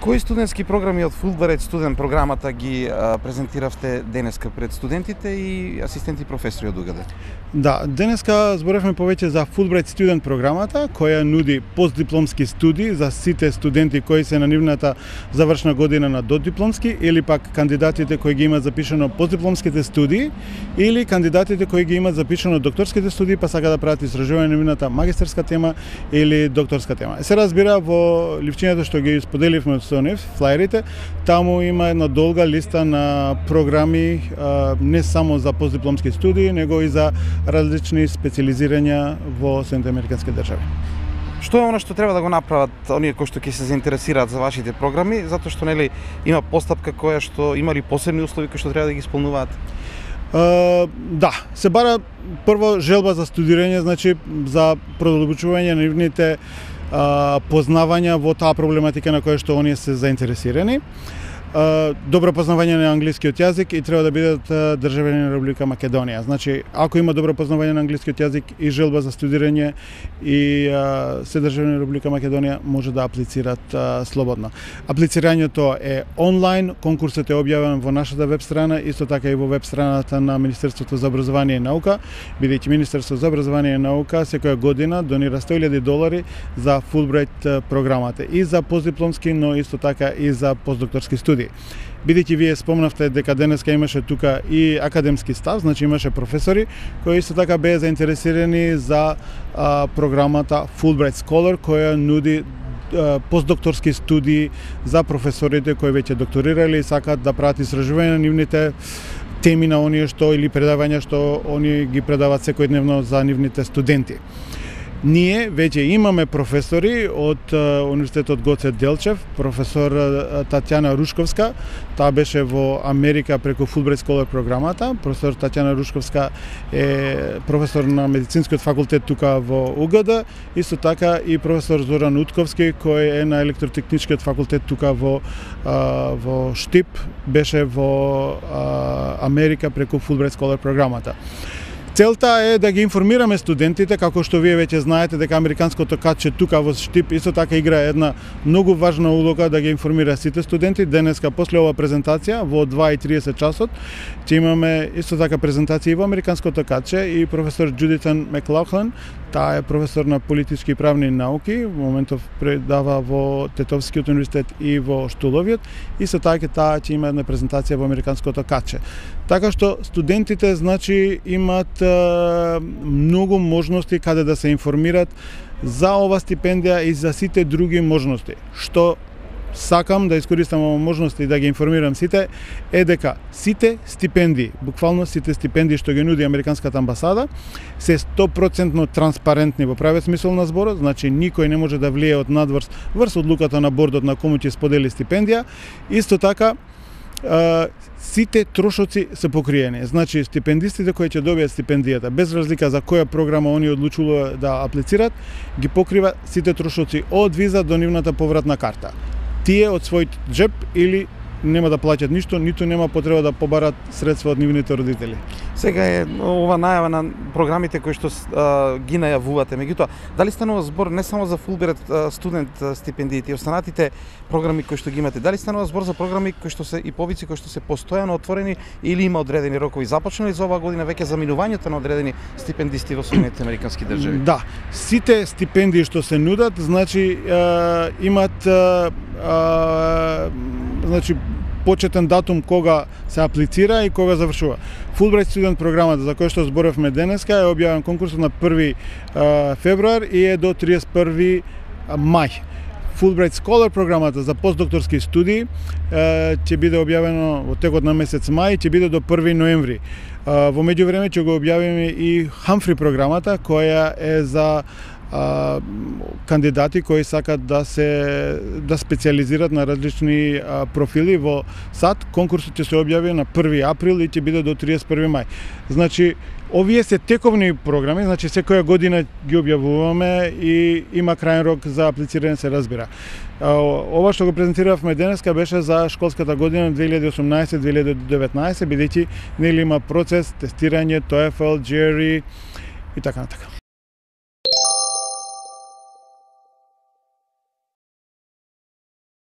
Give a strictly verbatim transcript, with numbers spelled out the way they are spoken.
Кои студентски програми од Fulbright студент програмата ги а, презентиравте денеска пред студентите и асистенти професори од УГД? Да, денеска зборевме повеќе за Fulbright студент програмата, која нуди постдипломски студии за сите студенти кои се на нивната завршна година на додипломски, или пак кандидатите кои ги имаат запишано постдипломските студии, или кандидатите кои ги имаат запишано докторските студии, па сака да прават истражување на нивната магистерска тема или докторска тема. Се разбира, во ливчињето што ги споделивме со нив, флаерите, таму има една долга листа на програми, не само за постдипломски студии, него и за различни специализирања во Соединетите американски држави. Што е она што треба да го направат оние кои што ќе се заинтересираат за вашите програми, затоа што нели има постапка која што има ли посебни услови кои што треба да ги исполнуваат? Uh, да, се бара прво желба за студирање, значи за продолбочување на нивните uh, познавања во таа проблематика на која што оние се заинтересирани. Uh, добро познавање на англискиот јазик и треба да бидат uh, државјани на Република Македонија. Значи, ако има добро познавање на англискиот јазик и желба за студирање и uh, се државјани на Република Македонија, може да аплицират uh, слободно. Аплицирањето е онлайн, конкурсот е објавен во нашата веб страна, исто така и во веб страната на Министерството за образование и наука, бидејќи Министерството за образование и наука секоја година донира сто илјади долари за Fulbright програмата и за постдипломски, но исто така и за постдокторски студии. Бидејќи вие спомнавте дека денеска имаше тука и академски став, значи имаше професори кои исто така беа заинтересирани за а, програмата Fulbright Scholar, која нуди а, постдокторски студии за професорите кои веќе докторирале и сакаат да прават истражување на нивните теми на оние што или предавања што оние ги предаваат секојдневно за нивните студенти. Ние веќе имаме професори од Универзитетот Гоце Делчев, професор Татјана Рушковска, таа беше во Америка преку Fulbright Scholar програмата. Професор Татјана Рушковска е професор на медицинскиот факултет тука во УГД, исто така и професор Зоран Утковски кој е на електротехничкиот факултет тука во во Штип, беше во Америка преку Fulbright Scholar програмата. Целта е да ги информираме студентите, како што вие веќе знаете дека американското катче тука во Штип исто така играе една многу важна улога да ги информира сите студенти. Денеска после ова презентација во два и тридесет часот ќе имаме исто така презентација и во американското катче и професор Джудитан Маклахлен, таа е професор на политички и правни науки, во моментов предава во Тетовскиот универзитет и во Штуловиот, и со така таа ќе има една презентација во американското катче. Така што студентите значи имаат е, многу можности каде да се информират за ова стипендија и за сите други можности. Што сакам да искористам ова можност и да ги информирам сите е дека сите стипендии, буквално сите стипендии што ги нуди Американската амбасада, се сто проценти транспарентни во правиот смисол на зборот, значи никој не може да влие од надврз врз одлуката на бордот на кому ќе сподели стипендија. Исто така Uh, сите трошоци се покриени. Значи, стипендистите кои ќе добијат стипендијата, без разлика за која програма они одлучуваат да аплицират, ги покрива сите трошоци од виза до нивната повратна карта. Тие од својот джеб или нема да плаќат ништо, ниту нема потреба да побарат средства од нивните родители. Сега е ова најава на програмите кои што а, ги најавувате. Меѓутоа, дали станува збор не само за Fulbright студент стипендиите и останатите програми кои што ги имате? Дали станува збор за програми кои што се и побици кои што се постојано отворени или има одредени рокови? Започнали за оваа година веќе заминувањето на одредени стипендисти во Соединетите американски држави? Да, сите стипендии што се нудат, значи е, имат е, е, значи почетен датум кога се аплицира и кога завршува. Fulbright студент програмата за која што зборевме денеска е објавен конкурсот на први февруар и е до триесет и први мај. Fulbright Scholar програмата за постдокторски студии ќе биде објавено во текот на месец мај и ќе биде до први ноември. Во меѓувреме ќе го објавиме и Humphrey програмата која е за а, кандидати кои сакат да се да специализират на различни а, профили во САД. Конкурсот ќе се објави на први април и ќе биде до триесет и први мај. Значи, овие се тековни програми, значи секоја година ги објавуваме и има крајен рок за аплицирање, се разбира. Ова што го презентиравме денеска беше за школската година две илјади и осумнаесет две илјади и деветнаесет, бидејќи нели има процес тестирање, TOEFL, джи ар и и така натака.